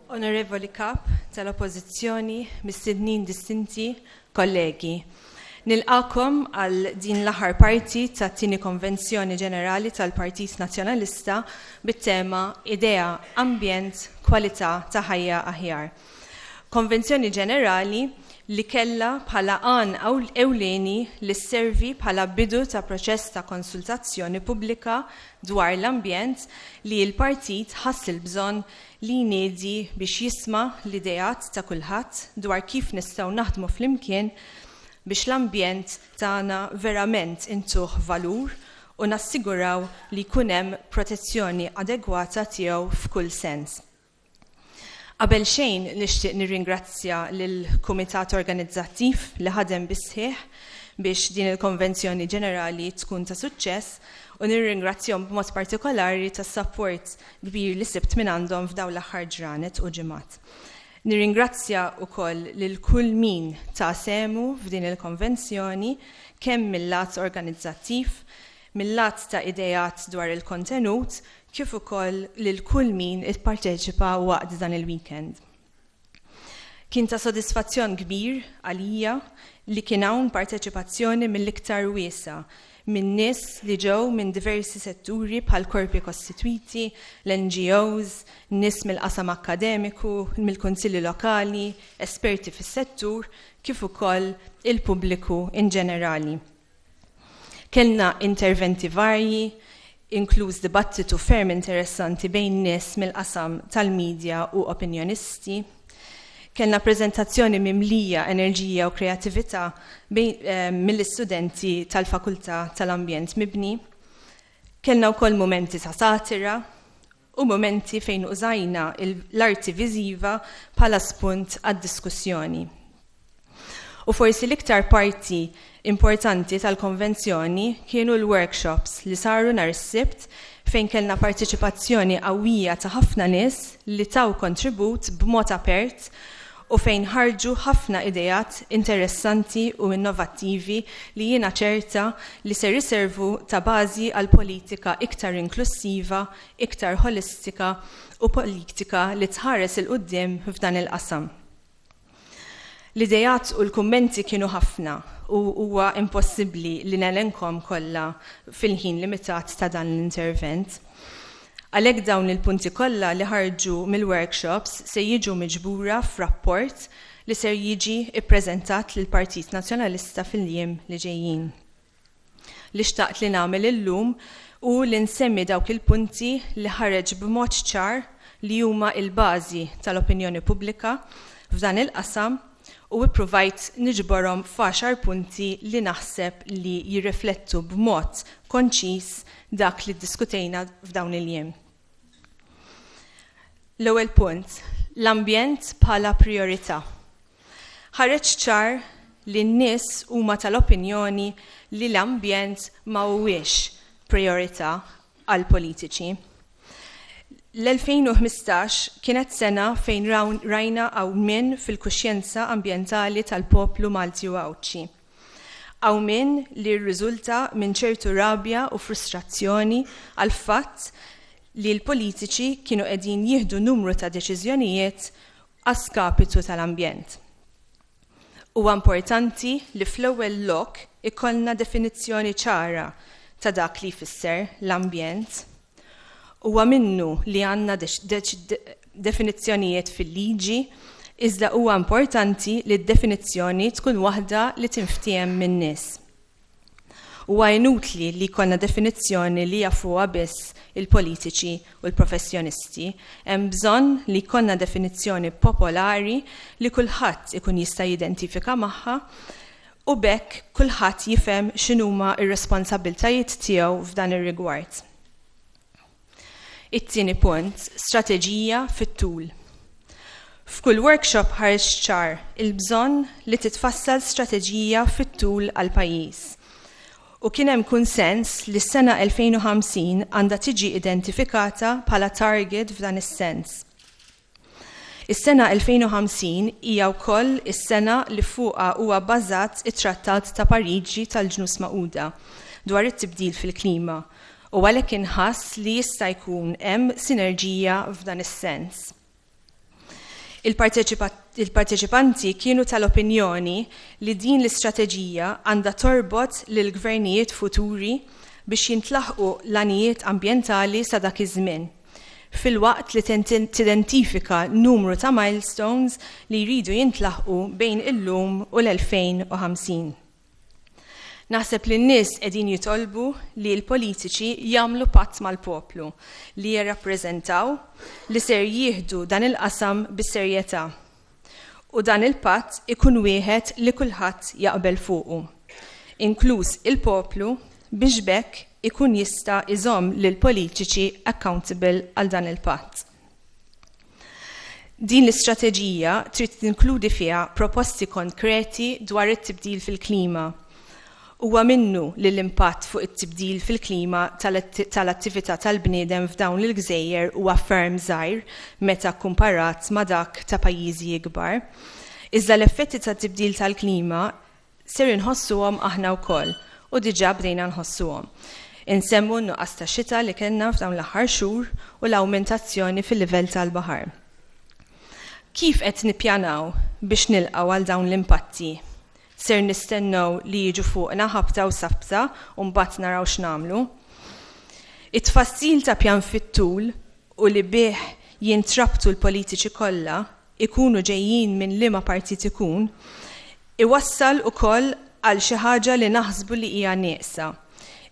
Onorevoli Kap tal-Oppożizzjoni, mistednin distinti, kollegi. Nilqagħkom għal din l-aħħar parti tat-tieni Konvenzjoni Ġenerali tal-Partit Nazzjonalista bit-tema Idea, Ambjent, Kwalità ta' Ħajja Aħjar. Konvenzjoni Ġenerali li kellha bħala għan ewlieni li sservi bħala bidu ta' proċess ta' konsultazzjoni pubblika dwar l-ambjent li l-partit ħass il-bżonn li jniedi biex jisma' l-ideat ta' kulħadd dwar kif nistgħu naħdmu flimkien biex l-ambjent tagħna verament intuh valur u nassiguraw li jkun hemm protezzjoni adegwata tiegħu f'kull sens. Qabel xejn nixtieq nirringrazzja lill-Kumitat Organizzattiv li ħadem bis-sħiħ biex din il-Konvenzjoni Ġenerali tkun ta' suċċess u nirringrazzjahom b'mod partikolari tas-sapport kbir li sibt mingħandhom f'dawn l-aħħar ġranet u ġimgħat. Nirringrazzja wkoll lil kull min ta sehmu f'din il-konvenzjoni kemm mil-lat organizzattiv, mil-lat ta' ideat dwar il-kontenut kif ukoll lil kull min ipparteċipa waqt dan il-weekend. Kien ta' sodisfazzjon kbir għalija li kien hawn parteċipazzjoni mill-iktar wiesgħa minn nies li ġew minn diversi setturi bħal korpi kostitwiti, l-NGOs, nies mill-qasam akkademiku, mill-kunsilli lokali, esperti fis-settur, kif ukoll il-pubbliku in ġenerali. Kellna interventi varji, inkluż dibattitu ferm interessanti bejn nies mill-qasam tal-media u opinjonisti. Kellna preżentazzjoni mimlija enerġija u kreattività mill-istudenti tal-Fakultà tal-Ambjent Mibni. Kellna wkoll mumenti ta' satira u mumenti fejn użajna l-arti viżiva bħala spunt għad-diskussjoni. U forsi l-iktar parti importanti tal-konvenzjoni kienu l-workshops li saru nhar is-Sibt fejn kellna parteċipazzjoni qawwija ta' ħafna nies li taw kontribut b'mod apert u fejn ħarġu ħafna ideat interessanti u innovattivi li jiena ċerta li ser iservu ta' bażi għal politika iktar inklussiva, iktar ħolistika u politika li tħares 'il quddiem f'dan il-qasam. L-ideat u l-kummenti kienu ħafna u huwa impossibbli li nelenkhom kollha fil-ħin limitat ta' dan l-intervent. Għalhekk dawn il-punti kollha li ħarġu mill-workshops se jiġu miġbura f'rapport li ser jiġi ppreżentat lill-Partit Nazzjonalista fil-jiem li ġejjin. Li xtaqt li nagħmel illum hu li nsemmi dawk il-punti li ħareġ b'mod ċar li huma l-bażi tal-opinjoni pubblika f'dan il-qasam u ippruvajt niġborhom f'għaxar punti li naħseb li jirriflettu b'mod konċiż dak li ddiskutejna f'dawn il-jiem. L-ewwel punt, l-ambjent bħala prijorità. Ħareġ ċar li n-nies huma tal-opinjoni li l-ambjent ma huwiex prijorità għall-politiċi. L-2015 kienet sena fejn rajna qawmien fil-kuxjenza ambjentali tal-poplu Malti u Għawdxi. Qawmien li rriżulta minn ċertu rabja u frustrazzjoni għall-fatt li l-politiċi kienu qegħdin jieħdu numru ta' deċiżjonijiet a skapitu tal-ambjent. Huwa importanti li fl-ewwel lok ikollna definizzjoni ċara ta' dak li jfisser l-ambjent. Huwa minnu li għandna definizzjonijiet fil-liġi, iżda huwa importanti li d-definizzjoni tkun waħda li tinftiehem min-nies. Huwa inutli li jkollna definizzjoni li jafuha biss il-politiċi u l-professjonisti. Hemm bżonn li jkollna definizzjoni popolari li kulħadd ikun jista' jidentifika magħha u b'hekk kulħadd jifhem x'inhuma r-responsabbiltajiet tiegħu f'dan ir-rigward. It-tieni punt, strateġija fit-tul. F'kull workshop ħareġ ċar il-bżonn li titfassal strateġija fit-tul għall-pajjiż. U kien hemm kunsens li s-sena 2050 għandha tiġi identifikata bħala target f'dan is-sens. Is-sena 2050 hija wkoll is-sena li fuqha huwa bbażat it-Trattat ta' Pariġi tal-Ġnus Magħquda dwar it-tibdil fil-klima u għalhekk inħass li jista' jkun hemm sinerġija f'dan is-sens. Il-parteċipanti kienu tal-opinjoni li din l-istrateġija għandha torbot lill-gvernijiet futuri biex jintlaħqu l-għanijiet ambjentali sa dak iż-żmien, filwaqt li tidentifika numru ta' milestones li jridu jintlaħqu bejn illum u l-2050. Naħseb li n-nies qegħdin jitolbu li l-politiċi jagħmlu patt mal-poplu li jirrappreżentaw li ser jieħdu dan il-qasam bis-serjetà. U dan il-patt ikun wieħed li kulħadd jaqbel fuqu, inkluż il-poplu biex b'hekk ikun jista' jżomm lill-politiċi accountable għal dan il-patt. Din l-istrateġija trid tinkludi fiha proposti konkreti dwar it-tibdil fil-klima. Huwa minnu li l-impatt fuq it-tibdil fil-klima tal-attività tal-bniedem f'dawn il-gżejjer huwa ferm żgħir meta kkumparat ma' dak ta' pajjiżi ikbar. Iżda l-effetti tat-tibdil tal-klima ser inħossuhom aħna wkoll u diġà bdejna nħossuhom. Insemmu n-nuqqas ta' xita li kellna f'dawn l-aħħar xhur u l-awmentazzjoni fil-livell tal-baħar. Kif qed nippjanaw biex nilqgħu għal dawn l-impatti? Ser nistennew li jiġu fuqna ħabta u sabta u mbagħad naraw x'nagħmlu? It-tfassil ta' pjan fit-tul u li bih jintrabtu l-politiċi kollha, ikunu ġejjin minn liema partit ikun, iwassal ukoll għal xi ħaġa li naħsbu li hija nieqsa,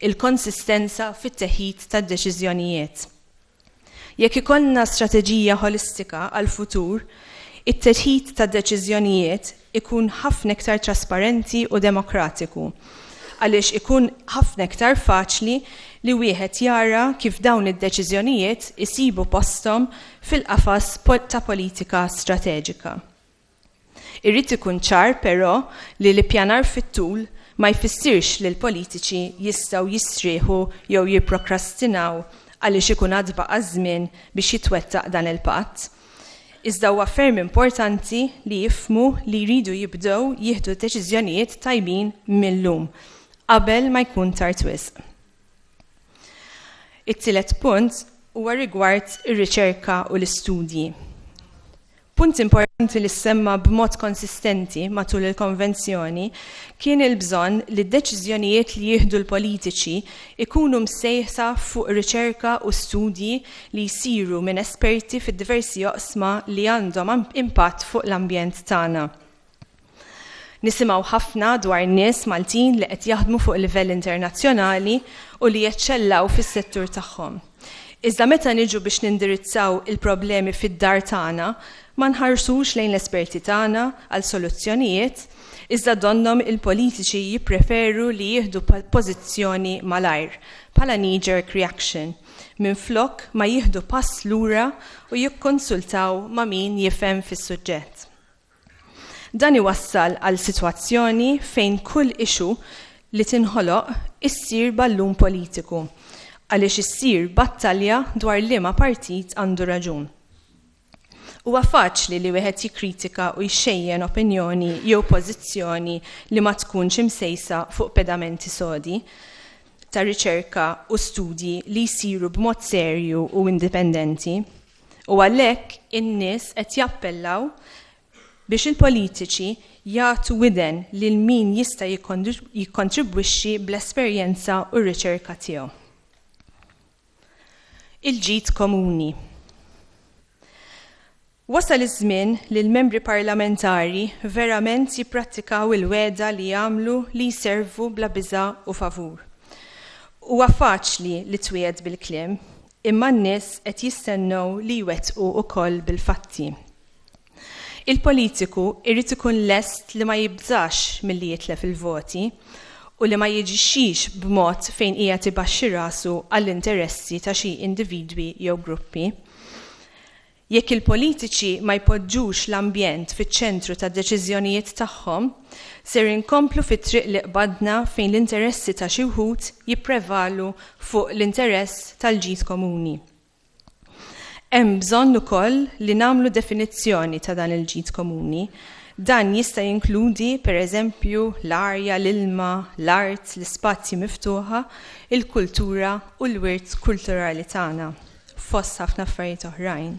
il-konsistenza fit-teħid tad-deċiżjonijiet. Jekk ikollna strateġija ħolistika għall-futur, it-teħid tad-deċiżjonijiet ikun ħafna iktar trasparenti u demokratiku, għaliex ikun ħafna iktar faċli li wieħed jara kif dawn id-deċiżjonijiet isibu posthom fil-qafas ta' politika strateġika. Irid ikun ċar però li l-ippjanar fit-tul ma jfissirx li l-politiċi jistgħu jistrieħu jew jipprokrastinaw għaliex ikun għad baqa' żmien biex jitwettaq dan il-patt. Iżda huwa ferm importanti li jifhmu li jridu jibdew jieħdu deċiżjonijiet tajbin mil-lum, qabel ma jkun tard wisq. It-tielet punt huwa rigward ir-riċerka u l-istudji. Punt importanti li ssemma b'mod konsistenti matul il-konvenzjoni kien il-bżonn li d-deċiżjonijiet li jieħdu l-politiċi jkunu msejsa fuq riċerka u studji li jsiru minn esperti fid-diversi oqsma li għandhom impatt fuq l-ambjent tagħna. Nisimgħu ħafna dwar nies Maltin li qed jaħdmu fuq livell internazzjonali u li jeċċellaw fis-settur tagħhom. Iżda meta niġu biex nindirizzaw il-problemi fid-dar tagħna, ma nħarsux lejn l-esperti tagħna għal soluzzjonijiet, iżda donnhom il-politiċi jippreferu li jieħdu pożizzjoni malajr, bħala knee-jerk reaction, minflok ma jieħdu pass lura u jikkonsultaw ma' min jifhem fis-suġġett. Dan iwassal għal sitwazzjoni fejn kull issue li tinħoloq issir ballun politiku, għaliex issir battalja dwar liema partit għandu raġun. Huwa faċli li wieħed jikkritika u jxejjen opinjoni jew pożizzjoni li ma tkunx imsejsa fuq pedamenti sodi ta' riċerka u studji li jsiru b'mod serju u indipendenti. U għalhekk in-nies qed jappellaw biex il-politiċi jagħtu widen lil min jista' jikkontribwixxi bl-esperjenza u r-riċerka tiegħu. Il-ġid komuni. Wasal iż-żmien li l-membri parlamentari verament jipprattikaw il-wegħda li jagħmlu li jservu bla biża' u favur. Huwa faċli li twiegħed bil-kliem, imma n-nies qed jistennew li jwettqu wkoll bil-fatti. Il-politiku jrid ikun lest li ma jibżax milli jitlef il-voti u li ma jiġixxix b'mod fejn qiegħed ibaxxi rasu għall-interessi ta' xi individwi jew gruppi. Jekk il-politiċi ma jpoġġux l-ambjent fiċ-ċentru tad-deċiżjonijiet tagħhom, ser inkomplu fit-triq li qbadna fejn l-interessi ta' xi wħud jipprevalu fuq l-interess tal-ġid komuni. Hemm bżonn ukoll li nagħmlu definizzjoni ta' dan il-ġid komuni. Dan jista' jinkludi, per eżempju, l-arja, l-ilma, l-art, l-ispazji miftuħa, il-kultura u l-wirt kulturali tagħna, fost ħafna affarijiet oħrajn.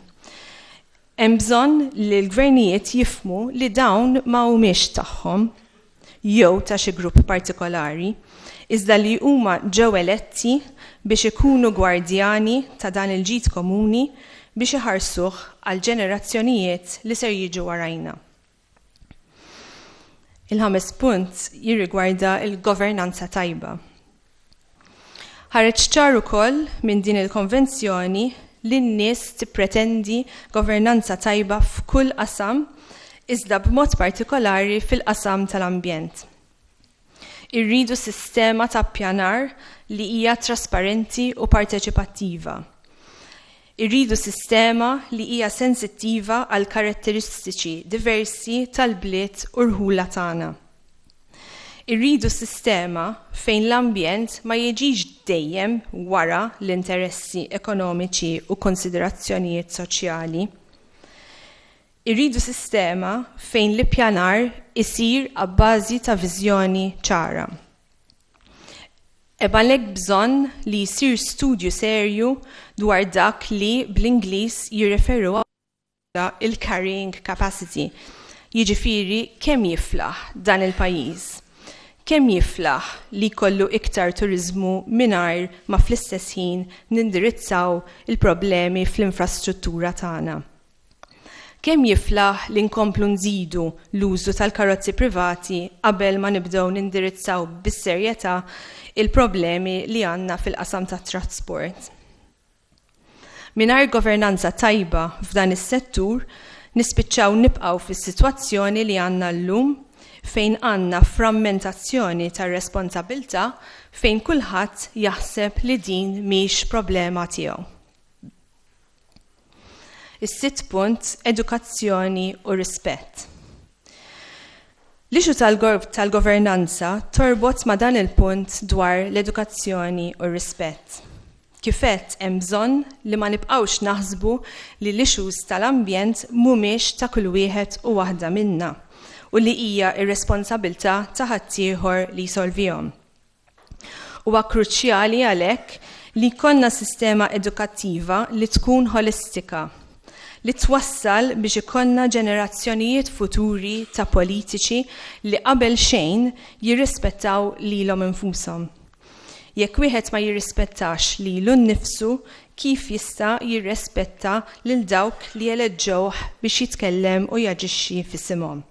Hemm bżonn li l-gvernijiet jifhmu li dawn ma humiex tagħhom jew ta' xi grupp partikolari, iżda li huma ġew eletti biex ikunu gwardjani ta' dan il-ġid komuni biex iħarsuh għall-ġenerazzjonijiet li ser jiġu warajna. Il-ħames punt jirrigwarda l-governanza tajba. Ħareġ ċar ukoll minn din il-konvenzjoni li n-nies tippretendi governanza tajba f'kull qasam iżda b'mod partikolari fil-qasam tal-ambjent. Irridu sistema ta' ppjanar li hija trasparenti u parteċipattiva. Irridu sistema li hija sensittiva għall-karatteristiċi diversi tal-bliet u rħula tagħna. Irridu sistema fejn l-ambjent ma jiġix dejjem wara l-interessi ekonomiċi u konsiderazzjonijiet soċjali. Irridu sistema fejn l-ippjanar isir abbażi ta' viżjoni ċara. Hemm għalhekk bżonn li jsir studju serju dwar dak li bl-Ingliż jirreferu il-carrying capacity, jiġifieri kemm jiflaħ dan il-pajjiż, kemm jiflaħ li jkollu iktar turiżmu mingħajr ma fl-istess ħin nindirizzaw il-problemi fl-infrastruttura tagħna. Kemm jiflaħ li nkomplu nżidu l-użu tal-karozzi privati qabel ma nibdew nindirizzaw bis-serjetà il-problemi li għandna fil-qasam tat-trasport. Mingħajr governanza tajba f'dan is-settur, nispiċċaw nibqgħu fis-sitwazzjoni li għandna llum fejn għandna frammentazzjoni tar-responsabilità fejn kulħadd jaħseb li din mhix problema tiegħu. Is-sitt punt, edukazzjoni u rispett. L-issue tal-governanza torbot ma' dan il-punt dwar l-edukazzjoni u r-rispett. Kif għedt hemm bżonn li ma nibqgħux naħsbu li l-issues tal-ambjent mhumiex ta' kull wieħed u waħda minna u li hija r-responsabilità ta' ħaddieħor li jsolvihom. Huwa kruċjali għalhekk li jkollna sistema edukattiva li tkun ħolistika, li twassal biex ikollna ġenerazzjonijiet futuri ta' politiċi li qabel xejn jirrispettaw lilhom infushom. Jekk wieħed ma jirrispettax lilu nnifsu, kif jista' jirrespetta lil dawk li eleġġewh biex jitkellem u jaġixxi f'isimhom?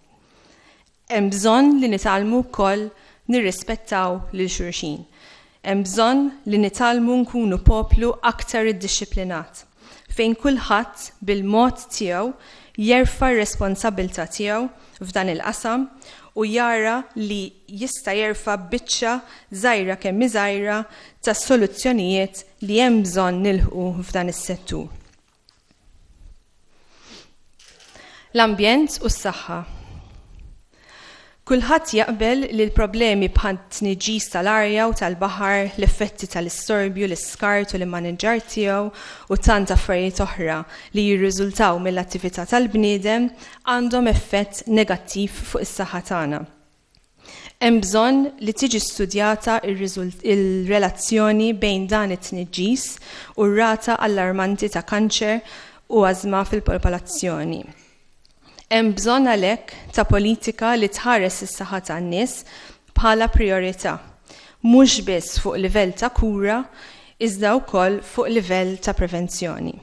Hemm bżonn li nitgħallmu wkoll nirrispettaw lil xulxin. Hemm bżonn li nitgħallmu nkunu poplu aktar iddixxiplinat, fejn kulħadd bil-mod tiegħu jerfa' r-responsabbiltà tiegħu f'dan il-qasam u jara li jista' jerfa' biċċa, żgħira kemm hi żgħira, tas-soluzzjonijiet li hemm bżonn nilħqu f'dan is-settur. L-ambjent u s-saħħa. Kulħadd jaqbel li l-problemi bħat-tniġġis tal-arja u tal-baħar, l-effetti tal-istorbju, l-iskart u l-immaniġġar tiegħu u tant affarijiet oħra li jirriżultaw mill-attività tal-bniedem għandhom effett negattiv fuq is-saħħa tagħna. Hemm bżonn li tiġi studjata r-relazzjoni bejn dan it-tniġġis u r-rata allarmanti ta' kanċer u ażma fil-popolazzjoni. Hemm bżonn għalhekk ta' politika li tħares is-saħħa tan-nies bħala prijorità, mhux biss fuq livell ta' kura iżda wkoll fuq livell ta' prevenzjoni.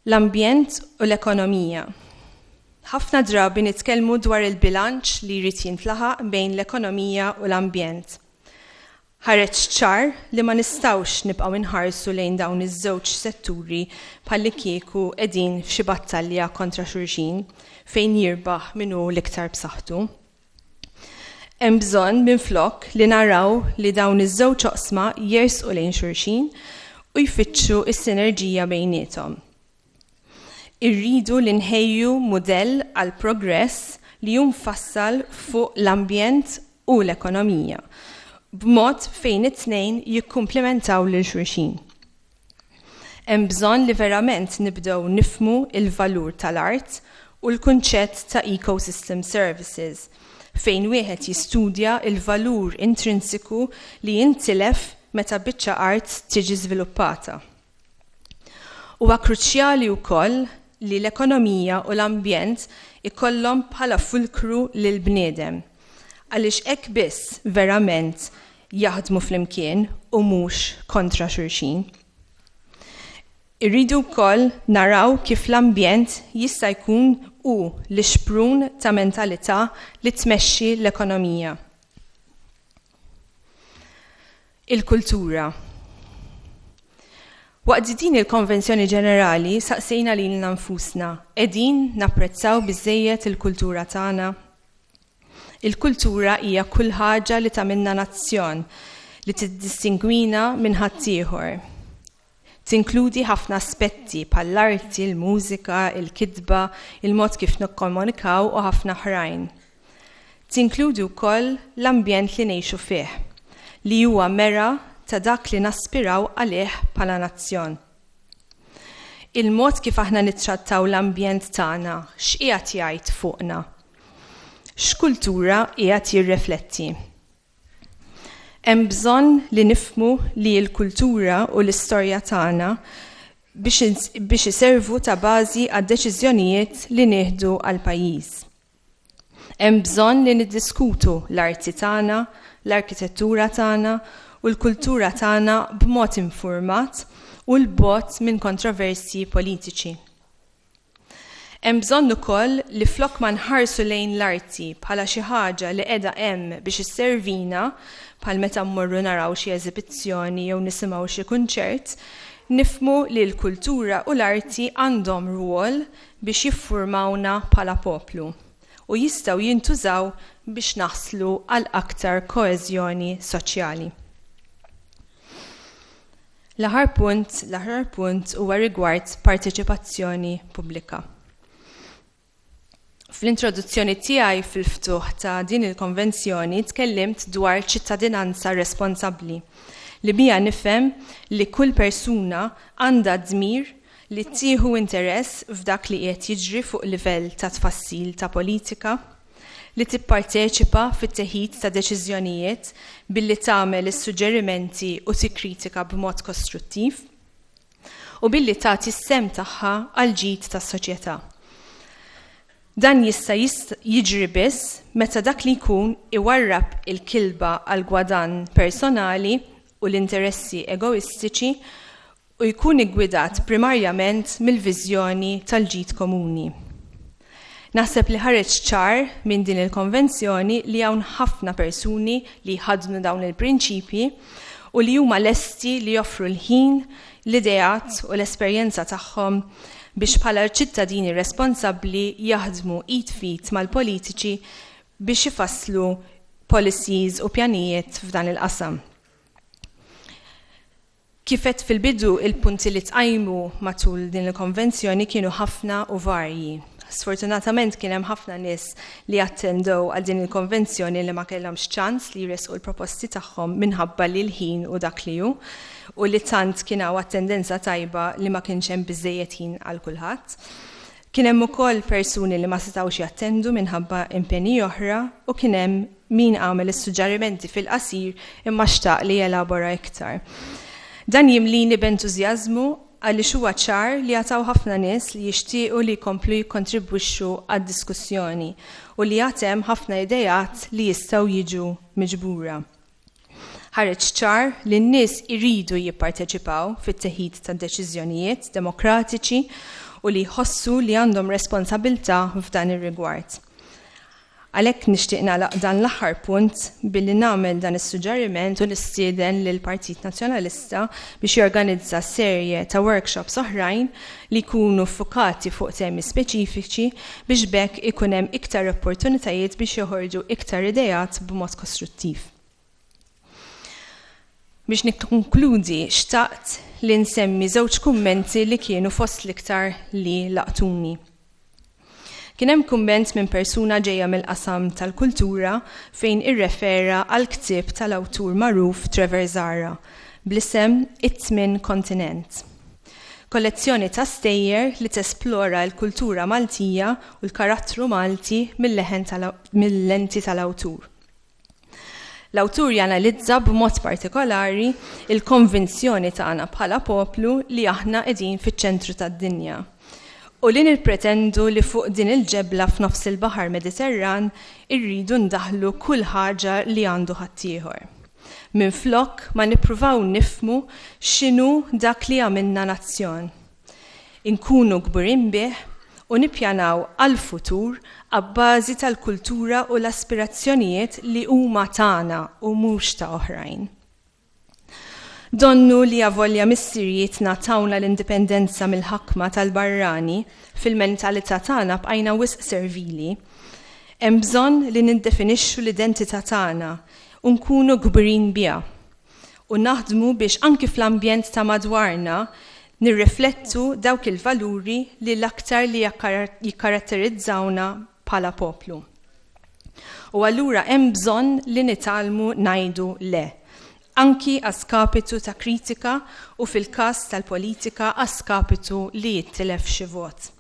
L-ambjent u l-ekonomija. Ħafna drabi nitkellmu dwar il-bilanċ li jrid jintlaħaq bejn l-ekonomija u l-ambjent. Ħareġ ċar li ma nistgħux nibqgħu nħarsu lejn dawn iż-żewġ setturi bħallikieku qegħdin f'xi battalja kontra xulxin fejn jirbaħ min hu l-iktar b'saħħtu. Hemm bżonn minflok li naraw li dawn iż-żewġ oqsma jersqu lejn xulxin u jfittxu s-sinerġija bejniethom. Irridu li nħejju mudell għall-progress li hu mfassal fuq l-ambjent u l-ekonomija, b'mod fejn it-tnejn jikkumplimentaw lil xulxin. Hemm bżonn li verament nibdew nifhmu l-valur tal-art u l-kunċett ta' ecosystem services, fejn wieħed jistudja l-valur intrinsiku li jintilef meta biċċa art tiġi żviluppata. Huwa kruċjali wkoll li l-ekonomija u l-ambjent ikollhom bħala fulkru lill-bniedem, għaliex hekk biss verament jaħdmu flimkien u mhux kontra xulxin. Irridu wkoll naraw kif l-ambjent jista' jkun hu l-ixprun ta' mentalità li tmexxi l-ekonomija. Il-kultura. Waqt din il-Konvenzjoni Ġenerali saqsejna lilna nfusna, qegħdin napprezzaw biżżejjed il-kultura tagħna? Il-kultura hija kull ħaġa li tagħmilna nazzjon, li tiddistingwina minn ħaddieħor. Tinkludi ħafna aspetti bħall-arti, il-mużika, il-kitba, il-mod kif nikkomunikaw u ħafna oħrajn. Tinkludi wkoll l-ambjent li ngħixu fih, li huwa mera ta' dak li naspiraw għalih bħala nazzjon. Il-mod kif aħna nittrattaw l-ambjent tagħna x'qiegħed jgħid fuqna? X'kultura qiegħed jirrefletti? Hemm bżonn li nifhmu li l-kultura u l-istorja tagħna biex iservu ta' bażi għad-deċiżjonijiet li nieħdu għall-pajjiż. Hemm bżonn li niddiskutu l-arti tagħna, l-arkitettura tagħna u l-kultura tagħna b'mod infurmat u 'l bogħod minn kontroversji politiċi. Hemm bżonn ukoll li flok ma nħarsu lejn l-arti bħala xi ħaġa li qiegħda hemm biex isservina, bħal meta mmorru naraw xi eżibizzjoni jew nisimgħu xi kunċert, nifhmu li l-kultura u l-arti għandhom rwol biex jiffurmawna bħala poplu u jistgħu jintużaw biex naslu għal aktar koeżjoni soċjali. L-aħħar punt, l-aħħar punt huwa rigward parteċipazzjoni pubblika. Fl-introduzzjoni tiegħi fil-ftuħ ta' din il-konvenzjoni tkellimt dwar ċittadinanza responsabbli li biha nifhem li kull persuna għandha dmir li tieħu interess f'dak li qiegħed jiġri fuq livell ta' tfassil ta' politika, li tipparteċipa fit-teħid ta' deċiżjonijiet billi tagħmel is-suġġerimenti u tikkritika b'mod kostruttiv, u billi tagħti s-sehem tagħha għall-ġid tas-soċjetà. Dan jista' jiġri biss meta dak li jkun iwarrab il-kilba għall-gwadann personali u l-interessi egoistiċi u jkun iggwidat primarjament mill-viżjoni tal-ġid komuni. Naħseb li ħareġ ċar minn din il-konvenzjoni li hawn ħafna persuni li jħaddnu dawn il-prinċipji u li huma lesti li joffru l-ħin, l-ideat u l-esperjenza tagħhom biex bħala ċittadini responsabbli jaħdmu id f'id mal-politiċi biex ifasslu policies u pjanijiet f'dan il-qasam. Kif għedt fil-bidu, il-punti li tqajmu matul din il-konvenzjoni kienu ħafna u varji. Sfortunatament kien hemm ħafna nies li attendew għal din il-konvenzjoni li ma kellhomx ċans li jressqu l-proposti tagħhom minħabba li l-ħin hu dak li hu u li tant kien hawn attendenza tajba li ma kienx hemm biżżejjed ħin għal kulħadd. Kien hemm ukoll persuni li ma setgħux jattendu minħabba impenji oħra u kien hemm min għamel is-suġġerimenti fil-qasir imma xtaq li jelabora iktar. Dan jimlini b'entużjażmu għaliex huwa ċar li għad hawn ħafna nies li jixtiequ li jkomplu jikkontribwixxu għad-diskussjoni u li għad hemm ħafna ideat li jistgħu jiġu miġbura. Ħareġ ċar li n-nies iridu jipparteċipaw fit-teħid ta' deċiżjonijiet demokratiċi u li jħossu li għandhom responsabilità f'dan ir-rigward. Għalhekk nixtieq nagħlaq dan l-aħħar punt billi nagħmel dan is-suġġeriment u nistieden lill-Partit Nazzjonalista biex jorganizza serje ta' workshops oħrajn li jkunu ffukati fuq temi speċifiċi biex b'hekk ikun hemm iktar opportunitajiet biex joħorġu iktar ideat b'mod kostruttiv. Biex nikkonkludi xtaqt li nsemmi żewġ kummenti li kienu fost l-iktar li laqtuni. Kien hemm kumment minn persuna ġejja mill-qasam tal-kultura fejn irrefera għall-ktieb tal-awtur magħruf Trevor Zahra bl-isem It-Tmien Kontinent. Kollezzjoni ta' stejjer li tesplora l-kultura Maltija u l-karattru Malti mil-lenti tal-awtur. L-awtur janalizza b'mod partikolari il-konvinzjoni tagħna bħala poplu li aħna qegħdin fiċ-ċentru tad-dinja u li nippretendu li fuq din il-ġebla f'nofs il-baħar Mediterran irridu ndaħħlu kull ħaġa li għandu ħaddieħor. Minflok ma nippruvaw nifhmu x'inhu dak li għamilna nazzjon. Inkunu kburin bih u nippjanaw għall-futur abbażi tal-kultura u l-aspirazzjonijiet li huma tagħna u mhux ta' oħrajn. Donnu li avolja missirijietna tawna l-indipendenza mill-ħakma tal-barrani, fil-mentalità tagħna bqajna wisq servili. Hemm bżonn li niddefinixxu l-identità tagħna u nkunu kburin biha. U naħdmu biex anki fl-ambjent ta' madwarna nirriflettu dawk il-valuri li l-aktar li jikkaratterizzawna bħala poplu. U allura hemm bżonn li nitgħallmu ngħidu le, anki a skapitu ta' kritika u fil-każ tal-politika a skapitu li jittilef xi vot.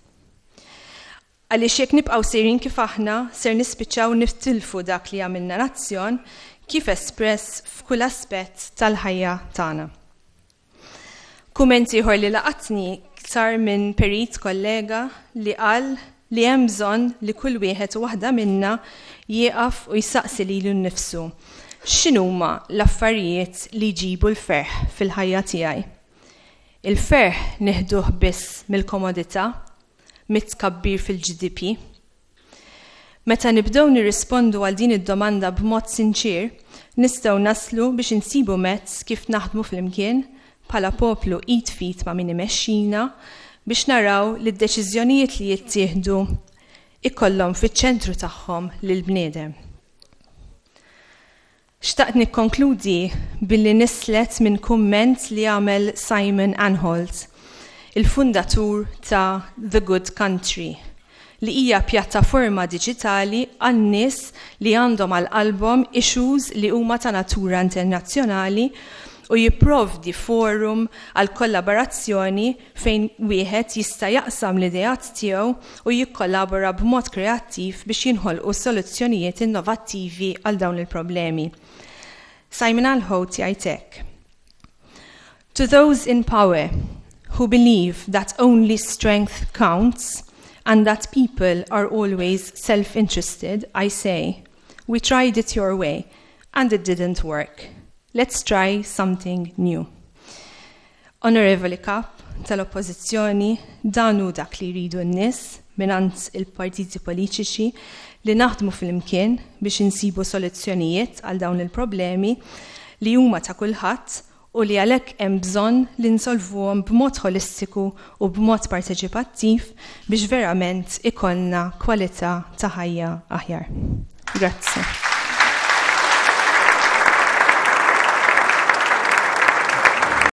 Għaliex jekk nibqgħu sejrin kif aħna, ser nispiċċaw niftilfu dak li għamilna nazzjon kif espress f'kull aspett tal-ħajja tagħna. Kumment ieħor li laqatni sar minn perit kollega li qal li hemm bżonn li kull wieħed u waħda minna jieqaf u jsaqsi lilu nnifsu x'inhuma l-affarijiet li jġibu l-ferħ fil-ħajja tiegħi. Il-ferħ neħduh biss mill-komodità, mit-tkabbir fil-GDP. Meta nibdew nirrispondu għal din id-domanda b'mod sinċir, nistgħu naslu biex insibu mezz kif naħdmu flimkien bħala poplu id f'id ma' min imexxina biex naraw li d-deċiżjonijiet li jittieħdu ikollhom fiċ-ċentru tagħhom lill-bniedem. Xtaqt nikkonkludi billi nislet minn kumment li għamel Simon Anholt, il-fundatur ta' The Good Country, li hija pjattaforma diġitali għan-nies li għandhom għal qalbhom issues li huma ta' natura internazzjonali u jipprovdi forum għal kollaborazzjoni fejn wieħed jista' jaqsam l-ideat tiegħu u jikkollabora b'mod kreattiv biex jinħolqu soluzzjonijiet innovattivi għal dawn il-problemi. Simon Anholt jgħid hekk. To those in power who believe that only strength counts and that people are always self-interested, I say, we tried it your way and it didn't work. Let's try something new. Onorevoli Kap tal-Oppożizzjoni, dan hu dak li jridu n-nies mingħand il-partiti politiċi, li naħdmu flimkien biex insibu soluzzjonijiet għal dawn il-problemi li huma ta' kulħadd u li għalhekk hemm bżonn li nsolvuhom b'mod holistiku u b'mod parteċipattiv biex verament ikollna kwalità ta' ħajja aħjar. Grazzi.